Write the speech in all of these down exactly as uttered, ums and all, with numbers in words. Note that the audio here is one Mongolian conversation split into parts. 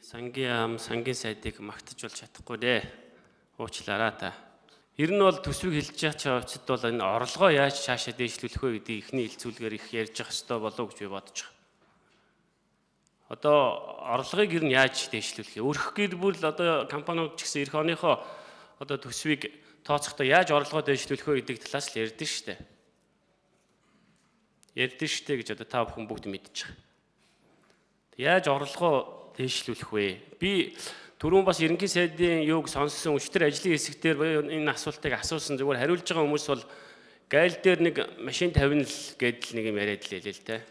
Сангийн сангийн сайдыг магтаж болж чадахгүй дээ. Уучлаарай та. Ер нь бол төсвийг хэлж байгаа ч хувьд бол энэ орлогоо яаж цаашаа дээшлүүлэх вэ гэдэг ихний хэлцүүлгээр их ярьж явах хэрэгтэй болов гэж би бодож байгаа. Одоо орлогыг ер нь яаж дээшлүүлэх вэ? Өрх гэр бүл одоо компаниуд ч гэсэн эх оныхоо одоо төсвийг тооцохдоо яаж орлогоо дээшлүүлэх вэ гэдэг талаас л ярьдэн шүү дээ. Ярьдэн шүү дээ гэж одоо та бүхэн бүгд мэдж байгаа. Яаж орлогоо дээшлүүлэх вэ? Би түрүүн бас ерөнхий сайдын юуг сонссон өчтөр ажлын хэсэг дээр энэ асуултыг асуусан. Зүгээр хариулж байгаа хүмүүс бол гайл дээр нэг машин тавина л гэдэл нэг юм яриад лээ л дээ.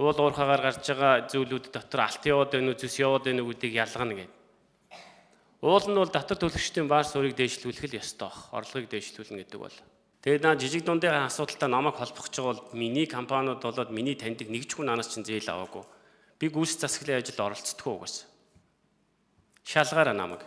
Уул уурхагаар гарч байгаа зүйлүүд дотор алт яваад байна уу, зүс яваад байна уу гэдгийг ялгана гэдэг. Уул нь бол татвар төлөгчдийн баар суурийг дээшлүүлэх л ёстой баг. Орлогыг дээшлүүлнэ гэдэг бол. Тэгээд наа жижиг дундын асуудалтай намайг холбох гэж бол миний компаниуд болоод миний таньдаг нэг ч хүн анаас чинь зээл аваагүй. Би гүйс засаглалын ажилд оролцдоггүй угаас. Шалгаараа намайг.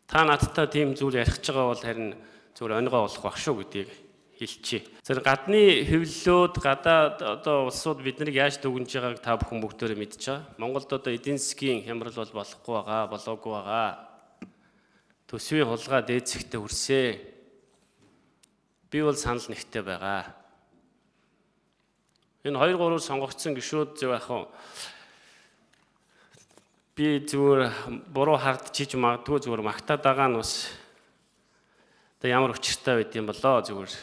Та надтай тийм зүйл ярих гэж байгаа бол харин зүгээр онигоо болох байх шүү гэдгийг хэлчихье. Тэр гадны хэвлэлүүд гадаад одоо улсууд биднийг яаж дүгнж байгааг та бүхэн бүгдээрээ мэдж байгаа. Монголд одоо эдийн засгийн хямрал бол болохгүй байгаа, болоогүй байгаа. Төсвийн хулгай дээд зэгтээ хүрсээ. Би бол санал нэгтэй байгаа. Энэ хоёр гурав сонгогдсон гишүүд зөв яах вэ? Би зүгээр буруу хардчиж магадгүй зүгээр магтаад байгаа нь бас одоо ямар учиртай байд юм болоо зүгээр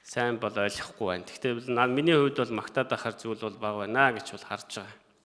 сайн бол ойлгохгүй байна. Гэхдээ миний хувьд бол магтаад ахаар зүйл бол бага байна гэж бол харж байгаа.